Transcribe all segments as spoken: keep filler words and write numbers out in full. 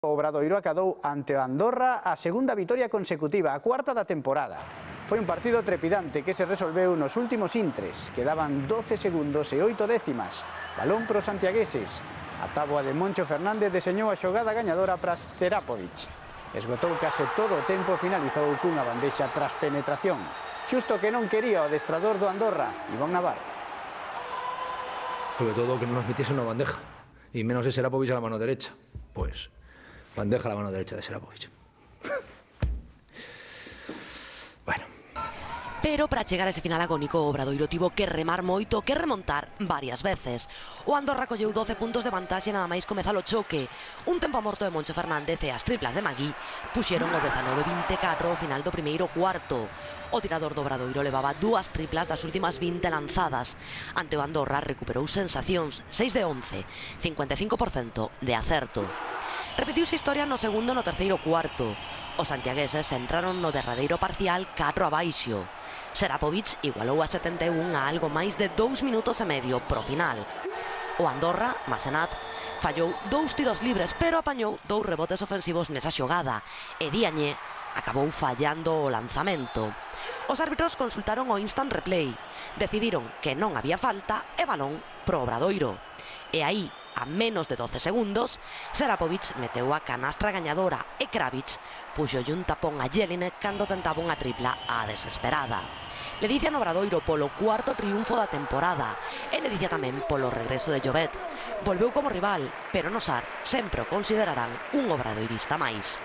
O Obradoiro acadou ante o Andorra a segunda vitoria consecutiva, a cuarta da temporada. Foi un partido trepidante que se resolveu nos últimos intres. Quedaban doce segundos e oito décimas. Balón para os santiagueses. A táboa de Moncho Fernández deseñou a xogada gañadora para Serapovic. Esgotou case todo o tempo e finalizou cunha bandexa tras penetración. Xusto que non quería o adestrador do Andorra, Iván Navarro. Sobre todo que no nos metiese una bandeja, y menos de Serapovic a la mano derecha. Pues bandeja a la mano derecha de Serapovic. Bueno. Pero para chegar a ese final agónico, o Obradoiro tivo que remar moito, que remontar varias veces. O Andorra colleu doce puntos de vantaxe nada máis comezar o choque. Un tempo morto de Moncho Fernández e as triplas de Magui puxeron o dezanove vinte e catro ao final do primeiro cuarto. O tirador do Obradoiro levaba dúas triplas das últimas vinte lanzadas. Ante o Andorra recuperou sensacións, seis de once, cincuenta e cinco por cento de acerto. Repetiuse historia no segundo e no terceiro cuarto. Os santiagueses entraron no derradeiro parcial catro abaixo. Serapovic igualou a setenta e un a algo máis de dous minutos e medio pro final. O Andorra, Masenat, fallou dous tiros libres, pero apañou dous rebotes ofensivos nesa xogada. E Diañé acabou fallando o lanzamento. Os árbitros consultaron o instant replay. Decidiron que non había falta e balón pro Obradoiro. E aí, a menos de doce segundos, Serapovic meteu a canastra gañadora e Kravic puxolle un tapón a Jelinek cando tentaba unha tripla á desesperada. Ledicia no Obradoiro polo cuarto triunfo da temporada e ledicia tamén polo regreso de Llobet. Volveu como rival, pero no Sar sempre o considerarán un obradoirista máis.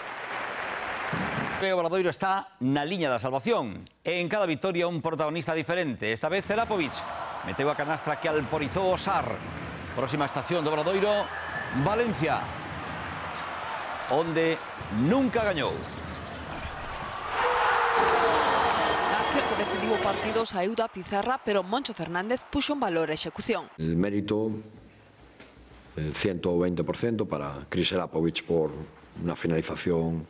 O Obradoiro está na liña da salvación. En cada vitoria un protagonista diferente. Esta vez Serapovic meteu a canastra que alporizou o Sar. Próxima estación do Obradoiro, Valencia, onde nunca gañou. Na acción que decidiu o partido saíu da pizarra, pero Moncho Fernández puxo en valor a execución. El mérito, el ciento veinte por ciento para Chris Serapovic por una finalización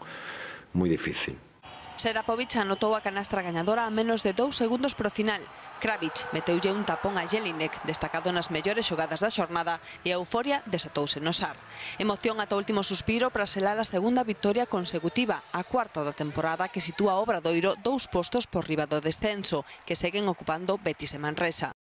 muy difícil. Serapovic anotou a canastra gañadora a menos de dous segundos pro final. Kravic meteulle un tapón a Jelinek, destacado nas mellores xogadas da xornada, e a euforia desatouse no Sar. Emoción ata o último suspiro para selar a segunda vitoria consecutiva, a cuarta da temporada, que sitúa o Obradoiro dous postos por riba do descenso, que seguen ocupando Betis e Manresa.